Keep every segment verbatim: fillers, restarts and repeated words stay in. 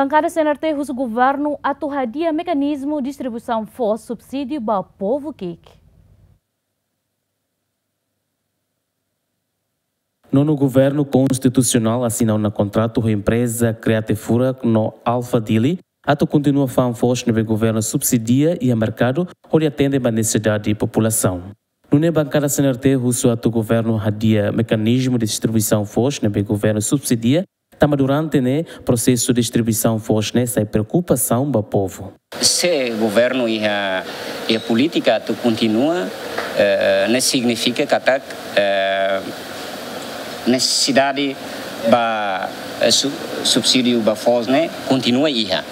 Bankada C N R T husu governu atu hadi'a mekanizmu distribuisaun foos subsídiu ba povu ki'ik. Nonu governu konstitusionál asina ona kontratu ho empreza Create Furak no Alpha Dili atu kontinua fa'an foos ne'ebé governu subsidia iha merkadu hodi atende ba nesesidade populasaun. Nune'e bankada C N R T husu atu governu hadi'a mekanizmu distribuisaun foos ne'ebé governu subsidia, tanba durante ne'e prosesu distribuisaun foos ne'e sai preokupasaun ba povu. Se governu iha, iha polítika atu kontinua, eh, ne'e signifika katak, eh, nesesidade ba, eh, su-, subsídiu ba foos ne'e kontinua iha.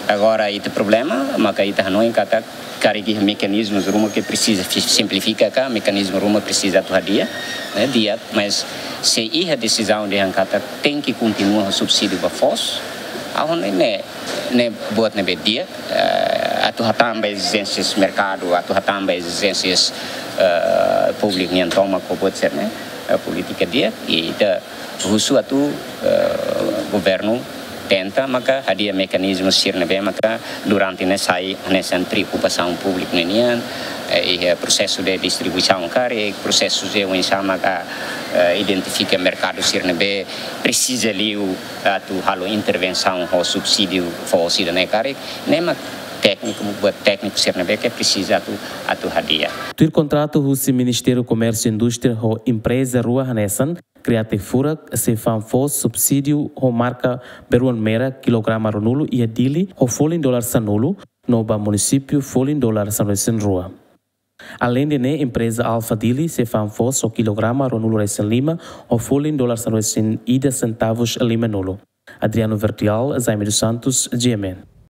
Agora, ita problema maka ita hanoin katak karik iha mekanizmus ruma ke presiza fi-, simplifika ka, mekanizmu ruma presiza atu hadi'a, ne'e di'ak, mas se iha desizaun dehan katak tenke kontinua ho subsídiu ba foos, ha'u hanoin ne'e, ne'e buat ne'ebé di'ak, eh, atu hatán ba ezijénsias merkadu, atu hatán ba ezijénsias, eh, públiku nian tomak ho buat sira-ne'e, eh, polítika di'ak, i ita husu atu, eh, governu tenta maka hadi'a mekanizmu sira ne'ebé maka durante ne'e sai hanesan preokupasaun públiku ninian, eh, iha prosesu de distribuisaun karik, prosesu de oinsá maka, eh, identifika merkadu sira ne'ebé presiza liu atu halo intervensaun ho subsídiu foos ida-ne'e karik, ne'e mak tékniku, buat tékniku sira ne'ebé ke presiza atu, atu hadi'a. Tuir kontratu husi Ministériu Komérsiu Indústria ho empreza rua hanesan, Create Furak sei fa'an foos subsídiu ho marka beruan merak kilograma ruanulu iha Dili ho folin dolar sanulu, no ba munisípiu folin dolar sanulu-resin-rua. Aleinde ne'e, empreza Alpha Dili sei fa'an foos ho kilograma ruanulu-resin-lima ho folin dolar sanulu-resin-ida sentavus limanulu. Adriano Verdial, Jaime dos Santos, G M N.